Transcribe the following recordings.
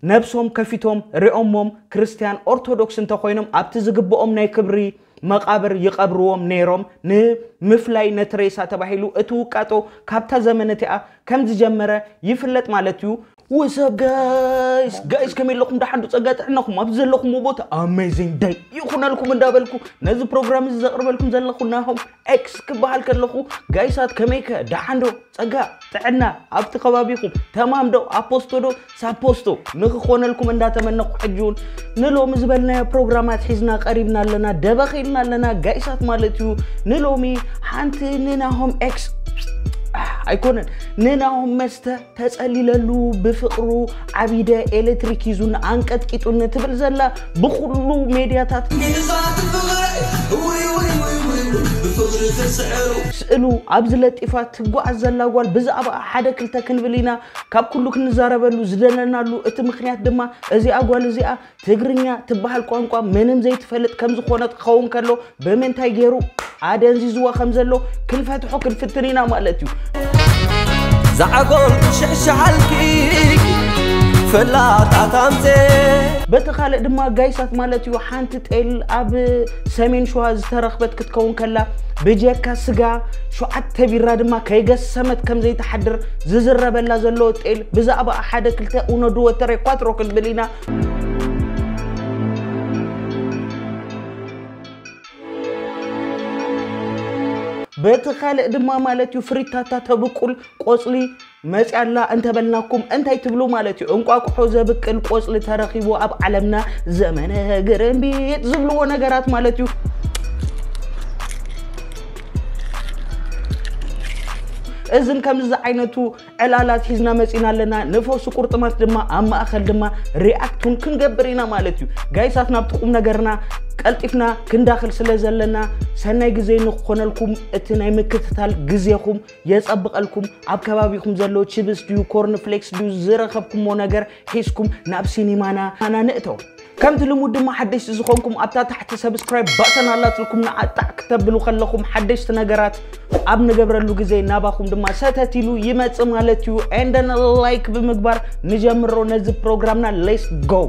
ነብሶም ከፊቶም ሪኦሞም ክርስትያን ኦርቶዶክስ እንተኾይኖም ኣብቲ ዝግብኦም ናይ ክብሪ መቓብር ይቐብርዎም ነይሮም። ንምፍላይ ነቲ ሬሳ ተባሂሉ እቲ ውቃጦ ካብታ ዘመን እቲኣ ከም ዝጀመረ ይፍለጥ ማለት እዩ። ወሰብ ጋይስ ጋይስ ከመይ ኣለኹም? ደሓን ዶ? ጸጋ ጥዕናኹም ኣብ ዘለኹምዎ ቦታ ኣሜዚንግ ደይ ይኹነልኩም እንዳበልኩ ነዚ ፕሮግራም እዚ ዘቕርበልኩም ዘለኹ ናሆም ኤክስ ክበሃል ከለኹ፣ ጋይሳት ከመይከ? ደሓን ዶ? ጸጋ ጥዕና ኣብቲ ከባቢኹም ተማም ዶ? ኣፖስቶ ዶ? ሳፖስቶ ንኽኾነልኩም እንዳተመነኹ፣ ሕጂ እውን ንሎሚ ዝበልናዮ ፕሮግራማት ሒዝና ቀሪብና ኣለና፣ ደበኺልና ኣለና ጋይሳት ማለት እዩ። ንሎሚ ሓንቲ ንናሆም ኤክስ ኣይኮነን፣ ንናሆም መስተ ተጸሊለሉ፣ ብፍቕሩ ዓቢደ፣ ኤሌክትሪክ ሒዙን ኣንቀጥቂጡን ትብል ዘላ ብኹሉ ሜድያታት ስእሉ ኣብዚ ለጢፋ ትጓዓዝ ዘላ ጓል ብዛዕባ ሓደ ክልተ ክንብል ኢና ካብ ኩሉ ክንዛረበሉ ዝደለናሉ። እቲ ምኽንያት ድማ እዚኣ ጓል እዚኣ ትግርኛ ትበሃል ቋንቋ ምንም ዘይትፈልጥ ከም ዝኾነት ክኸውን ከሎ፣ ብምንታይ ገይሩ ኣደንዚዝዋ ከም ዘሎ ክንፈትሖ ክንፍትን ኢና ማለት እዩ። ዛዕጎል ትሽሕሽሓልኪ ፈላጣት ኣምፀ በቲ ካልእ ድማ ጋይሳት ማለት እዩ፣ ሓንቲ ጤል ኣብ ሰሜን ሸዋ ዝተረኽበት ክትከውን ከላ፣ ብጀካ ስጋ ሸዓተ ቢራ ድማ ከይገሰመት ከም ዘይትሓድር ዝዝረበላ ዘሎ ጤል፣ ብዛዕባ ሓደ ክልተ ኡኖ ድወተረ ኳትሮ ክንብል ኢና። በቲ ካልእ ድማ ማለት እዩ፣ ፍሪታታ ተብቁል ቆጽሊ መጽያ ኣላ እንተበልናኩም እንታይ ትብሉ ማለት እዩ? እንቋቁሖ ዘብቅል ቆጽሊ ተረኺቡ ኣብ ዓለምና፣ ዘመነ ግርምቢጥ ዝብልዎ ነገራት ማለት እዩ። እዝን ከምዚ ዝዓይነቱ ዕላላት ሒዝና መጺና ኣለና። ንፈውሲ ቁርጥማት ድማ ኣብ ማእኸል ድማ ሪኣክት እውን ክንገብር ኢና ማለት እዩ። ጋይሳት ናብቲ ቁም ነገርና ቀልጢፍና ክንዳኽል ስለ ዘለና፣ ሰናይ ግዜ ንክኾነልኩም፣ እቲ ናይ ምክትታል ግዜኹም የጸብቐልኩም። ኣብ ከባቢኹም ዘሎ ችብስ ድዩ ኮርን ፍሌክስ ድዩ ዝረኸብኩሞ ነገር ሒዝኩም ናብ ሲኒማና ኣና ንእተው። ከምቲ ልሙድ ድማ ሓደሽቲ ዝኾንኩም ኣብታ ታሕቲ ሰብስክራይብ ባተን ኣላትልኩም ንዓጣዕ ክተብሉ ከለኹም ሓደሽቲ ነገራት ኣብ ንገብረሉ ግዜ ናባኹም ድማ ሰተት ኢሉ ይመጽእ ማለት እዩ። ኤንደን ላይክ ብምግባር ንጀምሮ ነዚ ፕሮግራምና። ሌትስ ጎ።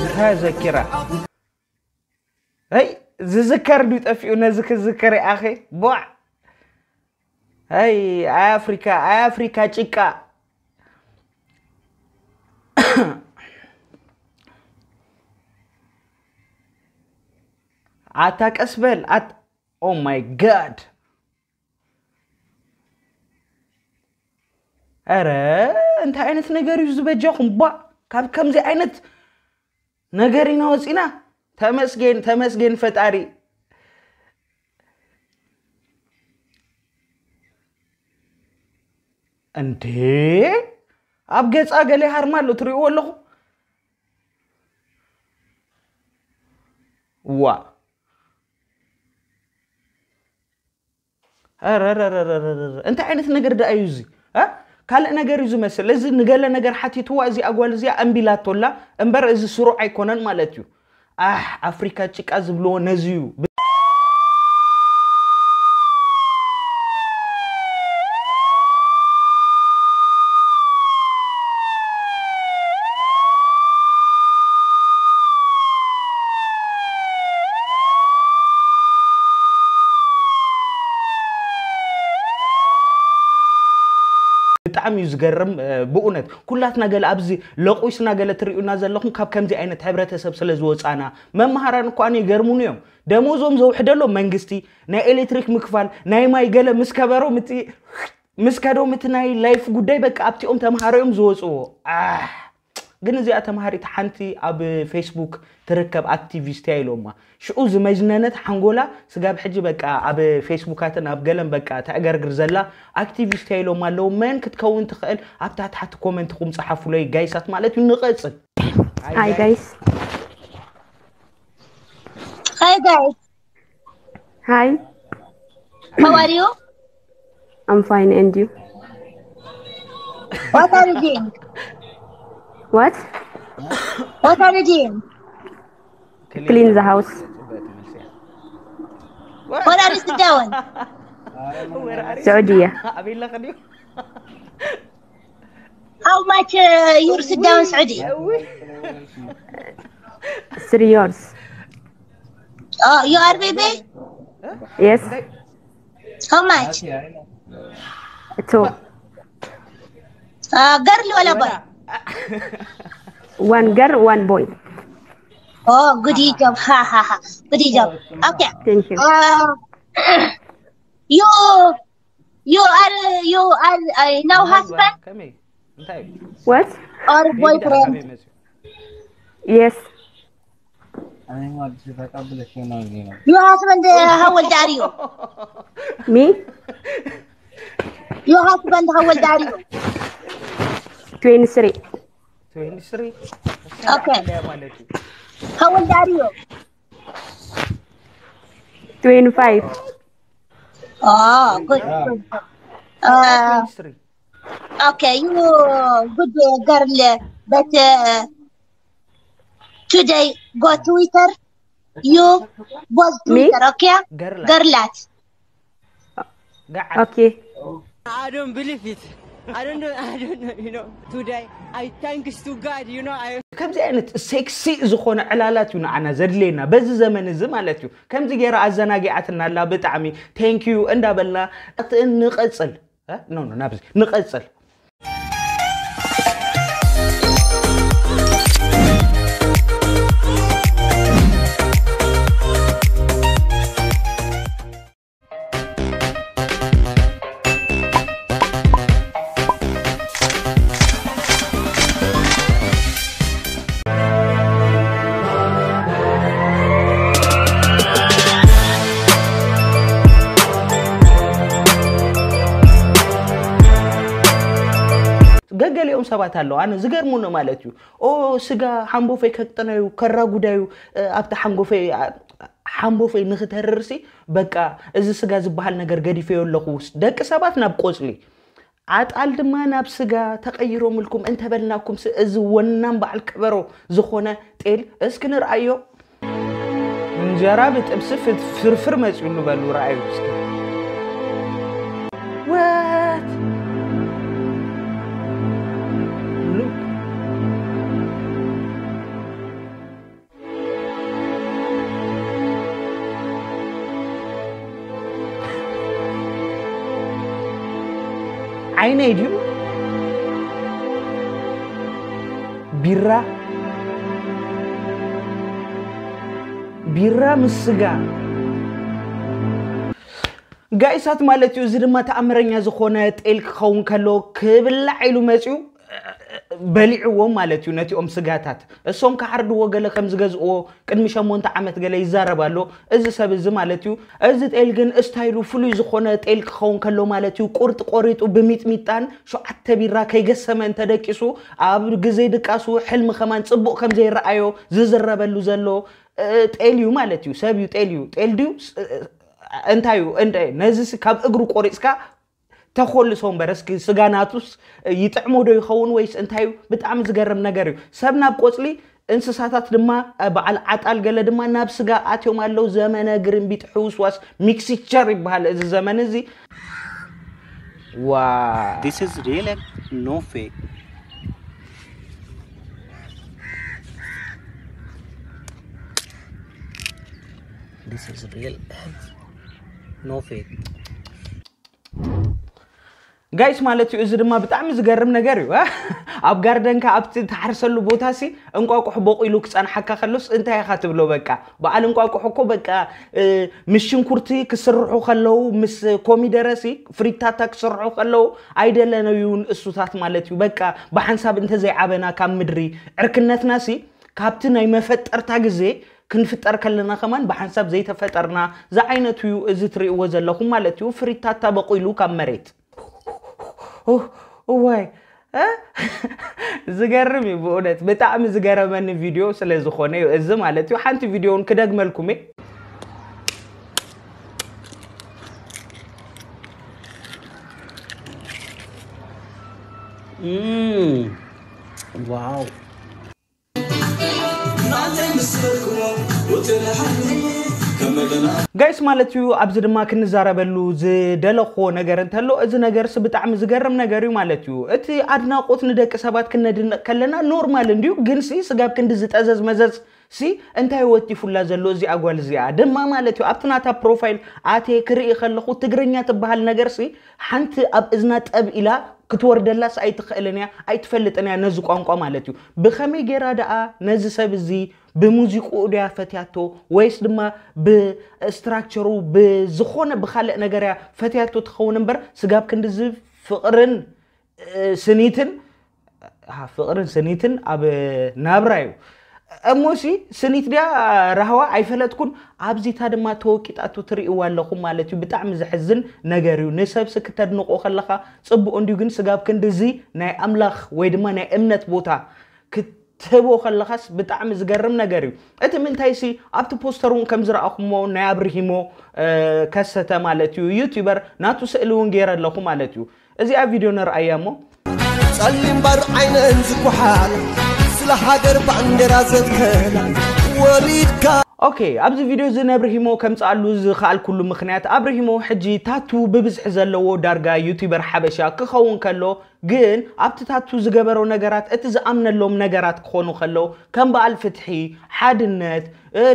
እንታይ ዘኪራ? ሀይ ዝዝከር ድዩ ጠፊኡ? ነዚ ክዝከር ይኣኸ ቦዕ። ሀይ ኣይ ኣፍሪካ፣ ኣይ ኣፍሪካ ጭቃ። ኣታ ቀስ በል ኣት ኦ ማይ ጋድ። ኧረ እንታይ ዓይነት ነገር እዩ ዝበጃኹም? ቧ ካብ ከምዚ ዓይነት ነገር ኢና ወፂና። ተመስገን ተመስገን ፈጣሪ። እንዴ ኣብ ገፃ ገለ ሃርማ ኣሎ ትሪእዎ ኣለኹ። ዋ ረረረረረረ እንታይ ዓይነት ነገር ደኣ እዩ እዚ? እ? ካልእ ነገር እዩ ዝመስል። እዚ ንገለ ነገር ሓቲትዋ እዚኣ ጓል እዚኣ እምቢ ኢላቶላ እምበር እዚ ስሩዕ ኣይኮነን ማለት እዩ። ኣሕ ኣፍሪካ ጭቃ ዝብልዎ ነዚ እዩ። ብጣዕሚ እዩ ዝገርም ብእውነት ኩላትና ገለ ኣብዚ ለቑስና ገለ ትሪኡና ዘለኹም ካብ ከምዚ ዓይነት ሕብረተሰብ ስለ ዝወፃና መምሃራን እኳ ይገርሙን እዮም። ደሞዞም ዘውሕደሎም መንግስቲ ናይ ኤሌክትሪክ ምክፋል ናይ ማይ ገለ ምስ ከበሮም እቲ ምስ ከዶም እቲ ናይ ላይፍ ጉዳይ በቃ ኣብቲኦም ተምሃሮ እዮም ዝወፅዎ። ኣሕ ግን እዚኣ ተምሃሪት ሓንቲ ኣብ ፌስቡክ ትርከብ ኣክቲቪስት እያ ኢሎማ። ሽዑ ዝመጅነነት ሓንጎላ ስጋብ ሕጂ በቃ ኣብ ፌስቡካትን ኣብ ገለን በቃ ተዕገርግር ዘላ ኣክቲቪስት እያ ኢሎማ ኣለዉ። መን ክትከውን ትኽእል ኣብታ ታሕቲ ኮመንትኹም ፀሓፉለይ ጋይሳት ማለት እዩ። ንቐፅል። Hi guys. Hi guys. Hi. How are you? I'm fine and you? What are you doing? What? What are you doing? Clean the house. What are you doing? Saudi. ኣበይ ኣለኺ ድዩ? How much uh, you sit down Saudi? Three years. Oh, you are baby? Yes. How much? Two. Uh, girl ولا boy? One girl, one boy. Oh, good job. Ha ha ha. Good job. Okay. Thank you. Uh, you you are you are uh, now husband ከመይ እንታይ እዩ? What? Or ቤቢ ዳኣ boyfriend? ካበይ መፅዩ? Yes. You husband uh, how old are you? Me? Your husband how old are you? Twenty-three. Twenty-three. Okay. እንታይ ማለት እዩ? How old are you? Twenty-five. Oh, good. Good. Uh, Twenty-three. okay, you good uh, girl, but uh, today go Twitter. You was Me? Twitter, okay? ገርላ Girlat. ጋዓ Okay. I don't believe it. I don't know. I don't know. You know, today I thanks to God. You know, I ከምዚ ዓይነት ሴክሲ ዝኾነ ዕላላት እዩ ንዓና ዘድልየና በዚ ዘመን እዚ ማለት እዩ። ከምዚ ገይራ ኣዘናጊዓትና ኣላ ብጣዕሚ thank you እንዳበልና እቲ ንቐጽል እ? ኖ ኖ ናብዚ ንቐጽል። ገገሊኦም ሰባት ኣለዉ ኣነ ዝገርሙኒ ማለት እዩ። ኦ ስጋ ሓንቦፈይ ከቅጥነዩ ከራጉዳዩ ኣብቲ ሓንጎፈይ ሓንቦፈይ ንክተርርሲ በቃ እዚ ስጋ ዝበሃል ነገር ገዲፈዮ ኣለኹ። ደቂ ሰባት ናብ ቆፅሊ ዓጣል ድማ ናብ ስጋ ተቐይሮምልኩም እንተበልናኩም እዚ ወናም በዓል ከበሮ ዝኾነ ጤል እስኪ ንርኣዮ። እንጀራ ብጥብሲ ፍት- ፍርፍር መፅዩሉ በሉ ረኣዩ እስኪ። What? Look. ዓይነይ ድዩ ቢራ ቢራ ምስ ስጋ ጋይሳት ማለት እዩ። እዚ ድማ ተኣምረኛ ዝኾነ ጤል ክኸውን ከሎ ክብላዕ ኢሉ መፅዩ በሊዕዎም ማለት እዩ ነቲኦም ስጋታት። እሶም ክሓርድዎ ገለ ከም ዝገዝእዎ ቅድሚ ሸሞንተ ዓመት ገለ ይዛረብ ኣሎ እዚ ሰብ እዚ ማለት እዩ። እዚ ጤል ግን እስታይሉ ፍሉይ ዝኾነ ጤል ክኸውን ከሎ ማለት እዩ። ቁርጥ ቆሪጡ ብሚጥሚጣን ሸዓተ ቢራ ከይገሰመ እንተደቂሱ ኣብ ግዜ ድቃሱ ሕልሚ ከማን ፅቡቕ ከም ዘይረኣዮ ዝዝረበሉ ዘሎ እ፣ ጤል እዩ ማለት እዩ። ሰብ እዩ ጤል እዩ። ጤል ድዩ ስ- እ፣ እንታይ እዩ እንደ ነዚ ስ- ካብ እግሩ ቆሪፅካ ተኾልሶ እምበር እስኪ ስጋ ናቱስ ይጥዕሞ ዶ ይኸውን ወይስ እንታይ እዩ? ብጣዕሚ ዝገርም ነገር እዩ። ሰብ ናብ ቆፅሊ እንስሳታት ድማ እ፣ በዓል ዓጣል ገለ ድማ ናብ ስጋ ኣትዮም ኣለዉ። ዘመነ ግርምቢጥ ሕውስዋስ ሚክስቸር ይበሃል እዚ ዘመን እዚ። ዋ This is real and no fake. This is real and no fake. ጋይስ ማለት እዩ። እዚ ድማ ብጣዕሚ ዝገርም ነገር እዩ። ኣብ ጋርደንካ ኣብቲ ትሓርሰሉ ቦታ ሲ እንቋቁሕ ቦቂሉ ክፀንሓካ ከሎስ እንታይ ኢኻ ትብሎ? በቃ በዓል እንቋቁሕ እኮ በቃ እ፣ ምስ ሽንኩርቲ ክስርሑ ከለዉ ምስ ኮሚደረ ሲ ፍሪታታ ክስርሑ ከለዉ ኣይደለናዩን እሱታት ማለት እዩ። በቃ ብሓንሳብ እንተዘይዓበና ካብ ምድሪ ዕርክነትና ሲ ካብቲ ናይ መፈጠርታ ግዜ ክንፍጠር ከለና ከማን ብሓንሳብ ዘይተፈጠርና ዝዓይነቱ እዩ እዚ ትርእይዎ ዘለኹም ማለት እዩ። ፍሪታታ በቂሉ ካብ መሬት ኦ፣ እዋይ እ? ዝገርም እዩ ብእውነት ብጣዕሚ ዝገረመኒ ቪድዮ ስለ ዝኾነ እዩ እዚ ማለት እዩ። ሓንቲ ቪድዮ እውን ክደግመልኩም እየ። Mm. Wow. ጋይስ ማለት እዩ። ኣብዚ ድማ ክንዛረበሉ ዝደለኹዎ ነገር እንተሎ፣ እዚ ነገርስ ብጣዕሚ ዝገርም ነገር እዩ ማለት እዩ። እቲ ኣድናቆት ንደቂ ሰባት ክነድንቕ ከለና ኖርማል እንድዩ፣ ግን ሲ ስጋብ ክንዲ ዝጠዘዝ መዘዝ ሲ እንታይ ወቲፉላ ዘሎ እዚኣ ጓል እዚኣ ድማ ማለት እዩ። ኣብቲ ናታ ፕሮፋይል ኣትየ ክርኢ ከለኹ፣ ትግርኛ ትበሃል ነገር ሲ ሓንቲ ኣብ እዝና ጠብ ኢላ ክትወርደላስ ኣይትኽእልን እያ፣ ኣይትፈልጥን እያ ነዚ ቋንቋ ማለት እዩ። ብኸመይ ጌራ ደኣ ነዚ ሰብ እዚ ብሙዚቅኡ ድያ ፈትያቶ፣ ወይስ ድማ ብስትራክቸሩ ብዝኾነ ብኻልእ ነገር እያ ፈትያቶ ትኸውን እምበር፣ ስጋብ ክንድዚ ፍቕርን ስኒትን ፍቕርን ስኒትን ኣብ ናብራ እዩ። እሞሲ ስኒት ድያ ራህዋ ኣይፈለጥኩን። ኣብዚታ ድማ ተወቂጣቱ ትርእይዋ ኣለኹም ማለት እዩ። ብጣዕሚ ዘሕዝን ነገር እዩ። ንሰብሲ ክተድንቆ ከለኻ ጽቡቕ እንድዩ፣ ግን ስጋብ ክንድዚ ናይ ኣምላኽ ወይ ድማ ናይ እምነት ቦታ ክትህቦ ከለኻስ ብጣዕሚ ዝገርም ነገር እዩ። እቲ ምንታይሲ ኣብቲ ፖስተር እውን ከም ዝረኣኹሞ ናይ ኣብርሂሞ ከሰተ ማለት እዩ ዩቲዩበር ናቱ ስእሊ እውን ገይረ ኣለኹ ማለት እዩ። እዚኣ ቪድዮ ነርኣያ እሞ። ጸሊም ባር ዓይነን ዝኩሓል ስለ ሃገር ባንዴራ ዘትከላ ወሊድካ ኦኬ፣ ኣብዚ ቪድዮ እዚ ነብርሂሞ ከምጽኣሉ ዝኸኣልኩሉ ምኽንያት ኣብርሂሞ ሕጂ ታቱ ብብዝሒ ዘለዎ ዳርጋ ዩቲዩበር ሓበሻ ክኸውን ከሎ፣ ግን ኣብቲ ታቱ ዝገበሮ ነገራት እቲ ዝኣምነሎም ነገራት ክኾኑ ከለዉ ከም በዓል ፍትሒ፣ ሓድነት፣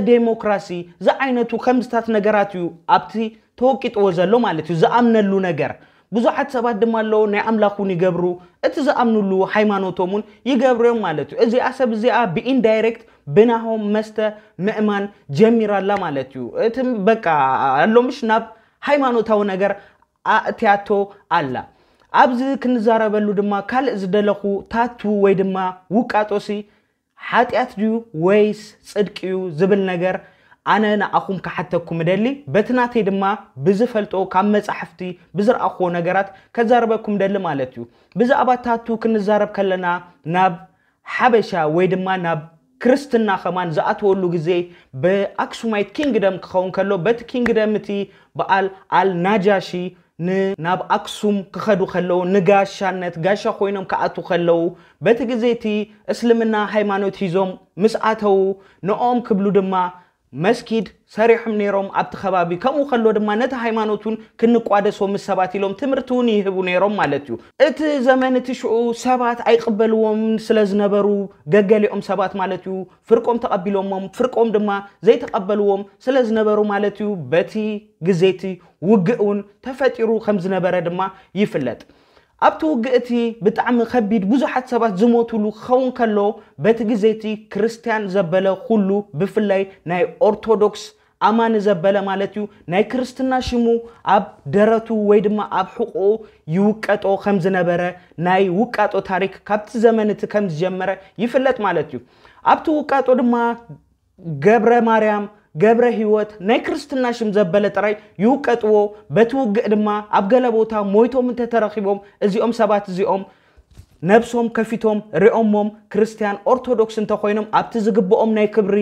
ዴሞክራሲ ዝዓይነቱ ከምዝታት ነገራት እዩ ኣብቲ ተወቂጥዎ ዘሎ ማለት እዩ ዝኣምነሉ ነገር። ብዙሓት ሰባት ድማ ኣለዉ ናይ ኣምላኽ እውን ይገብሩ፣ እቲ ዝኣምኑሉ ሃይማኖቶም እውን ይገብሩ እዮም ማለት እዩ። እዚኣ ሰብ እዚኣ ብኢንዳይሬክት ብናሆም መስተ ምእማን ጀሚራ ኣላ ማለት እዩ። እቲ በቃ ኣሎ ምሽ ናብ ሃይማኖታዊ ነገር ኣእትያቶ ኣላ። ኣብዚ ክንዛረበሉ ድማ ካልእ ዝደለኹ ታቱ ወይ ድማ ውቃጦሲ ሓጢኣት ድዩ ወይስ ጽድቂ እዩ ዝብል ነገር ኣነ ንኣኹም ክሓተኩም እደሊ። በቲ ናተይ ድማ ብዝፈልጦ ካብ መጻሕፍቲ ብዝረኣኽዎ ነገራት ከዛርበኩም እደሊ ማለት እዩ። ብዛዕባ ታቱ ክንዛረብ ከለና ናብ ሓበሻ ወይ ድማ ናብ ክርስትና ከማን ዝኣተወሉ ግዜ ብኣክሱማይት ኪንግደም ክኸውን ከሎ በቲ ኪንግደም እቲ በዓል ኣል ናጃሺ ን ናብ ኣክሱም ክኸዱ ከለዉ ንጋሻነት ጋሻ ኮይኖም ክኣቱ ከለዉ በቲ ግዜ እቲ እስልምና ሃይማኖት ሂዞም ምስ ኣተዉ ንኦም ክብሉ ድማ መስጊድ ሰሪሖም ነይሮም ኣብቲ ከባቢ። ከምኡ ከሎ ድማ ነቲ ሃይማኖት እውን ክንቋደሶ ምስ ሰባት ኢሎም ትምህርቲ እውን ይህቡ ነይሮም ማለት እዩ። እቲ ዘመን እቲ ሽዑ ሰባት ኣይቕበልዎም ስለ ዝነበሩ ገገሊኦም ሰባት ማለት እዩ ፍርቆም ተቐቢሎሞም፣ ፍርቆም ድማ ዘይተቐበልዎም ስለ ዝነበሩ ማለት እዩ በቲ ግዜ እቲ ውግእ እውን ተፈጢሩ ከም ዝነበረ ድማ ይፍለጥ። ኣብቲ ውግእ እቲ ብጣዕሚ ከቢድ ብዙሓት ሰባት ዝሞትሉ ክኸውን ከሎ በቲ ግዜ እቲ ክርስትያን ዘበለ ኩሉ ብፍላይ ናይ ኦርቶዶክስ ኣማኒ ዘበለ ማለት እዩ ናይ ክርስትና ሽሙ ኣብ ደረቱ ወይ ድማ ኣብ ሕቖኡ ይውቀጦ ከም ዝነበረ ናይ ውቃጦ ታሪክ ካብቲ ዘመን እቲ ከም ዝጀመረ ይፍለጥ ማለት እዩ። ኣብቲ ውቃጦ ድማ ገብረ ማርያም፣ ገብረ ህይወት ናይ ክርስትና ሽም ዘበለ ጥራይ ይውቀጥዎ። በቲ ውግእ ድማ ኣብ ገለ ቦታ ሞይቶም እንተተረኺቦም እዚኦም ሰባት እዚኦም ነብሶም ከፊቶም ሪኦሞም ክርስትያን ኦርቶዶክስ እንተኾይኖም ኣብቲ ዝግብኦም ናይ ክብሪ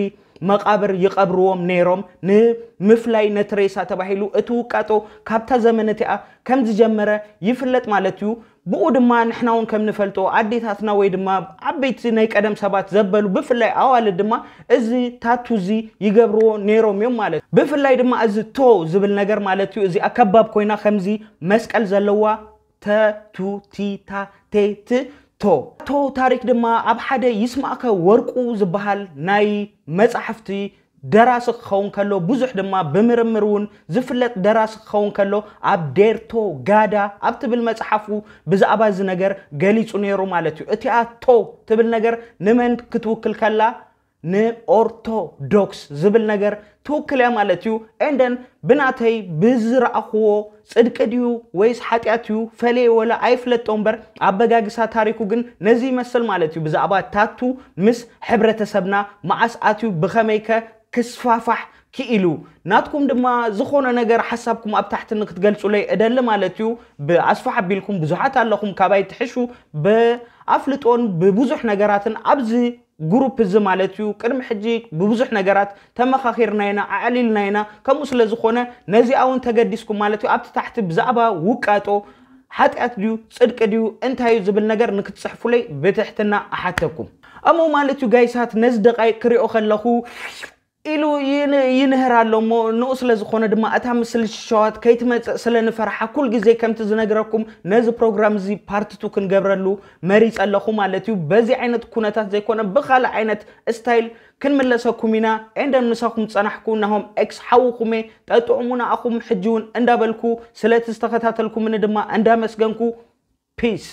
መቓብር ይቐብርዎም ነይሮም። ንምፍላይ ነቲ ሬሳ ተባሂሉ እቲ ውቃጦ ካብታ ዘመን እቲኣ ከም ዝጀመረ ይፍለጥ ማለት እዩ። ብኡ ድማ ንሕና እውን ከም ንፈልጦ ኣዴታትና ወይ ድማ ዓበይቲ ናይ ቀደም ሰባት ዘበሉ ብፍላይ ኣዋልድ ድማ እዚ ታቱ እዚ ይገብርዎ ነይሮም እዮም ማለት እዩ። ብፍላይ ድማ እዚ ቶ ዝብል ነገር ማለት እዩ እዚኣ ከባብ ኮይና ከምዚ መስቀል ዘለዋ ተቱቲታቴት ቶ ቶ ታሪክ ድማ ኣብ ሓደ ይስማዕከ ወርቁ ዝበሃል ናይ መጻሕፍቲ ደራሲ ክኸውን ከሎ ብዙሕ ድማ ብምርምር እውን ዝፍለጥ ደራሲ ክኸውን ከሎ ኣብ ዴርቶ ጋዳ ኣብ ትብል መጽሓፉ ብዛዕባ እዚ ነገር ገሊጹ ነይሩ ማለት እዩ። እቲኣ ቶ ትብል ነገር ንመን ክትውክል ከላ ንኦርቶዶክስ ዝብል ነገር ትውክል እያ ማለት እዩ። ኤንደን ብናተይ ብዝረኣኽዎ ጽድቂ ድዩ ወይስ ሓጢኣት እዩ ፈለየ ወላ ኣይፍለጦ እምበር ኣበጋግሳ ታሪኩ ግን ነዚ ይመስል ማለት እዩ። ብዛዕባ ታቱ ምስ ሕብረተሰብና መዓስ ኣትዩ ብኸመይከ ክስፋፋሕ ክኢሉ ናትኩም ድማ ዝኾነ ነገር ሓሳብኩም ኣብ ታሕቲ ንክትገልጹለይ እደሊ ማለት እዩ። ብኣስፋሕ ኣቢልኩም ብዙሓት ኣለኹም ካባይ ትሕሹ ብኣፍልጦን ብብዙሕ ነገራትን ኣብዚ ግሩፕ እዚ ማለት እዩ ቅድሚ ሕጂ ብብዙሕ ነገራት ተመኻኺርና ኢና ኣዕሊልና ኢና። ከምኡ ስለ ዝኾነ ነዚኣ እውን ተገዲስኩም ማለት እዩ ኣብቲ ታሕቲ ብዛዕባ ውቃጦ ሓጢኣት ድዩ ጽድቂ ድዩ እንታይ እዩ ዝብል ነገር ንክትጽሕፉለይ ብትሕትና እሓተኩም። እሞ ማለት እዩ ጋይሳት ነዚ ደቃይቅ ክሪኦ ከለኹ ኢሉ ይንህር ኣሎ እሞ ንኡ ስለ ዝኾነ ድማ እታ ምስልሽሸዋት ከይትመፅእ ስለ ንፈርሓ ኩል ግዜ ከምቲ ዝነግረኩም ነዚ ፕሮግራም እዚ ፓርት ቱ ክንገብረሉ መሪፀ ኣለኹ ማለት እዩ። በዚ ዓይነት ኩነታት ዘይኮነ ብኻልእ ዓይነት ስታይል ክንምለሰኩም ኢና። ኤንደን ምሳኹም ፀናሕኩ ናሆም ኤክስ ሓውኹሜ ጠጥዑሙና ኣኹም ሕጂ እውን እንዳበልኩ ስለቲ ዝተኸታተልኩምኒ ድማ እንዳመስገንኩ ፒስ።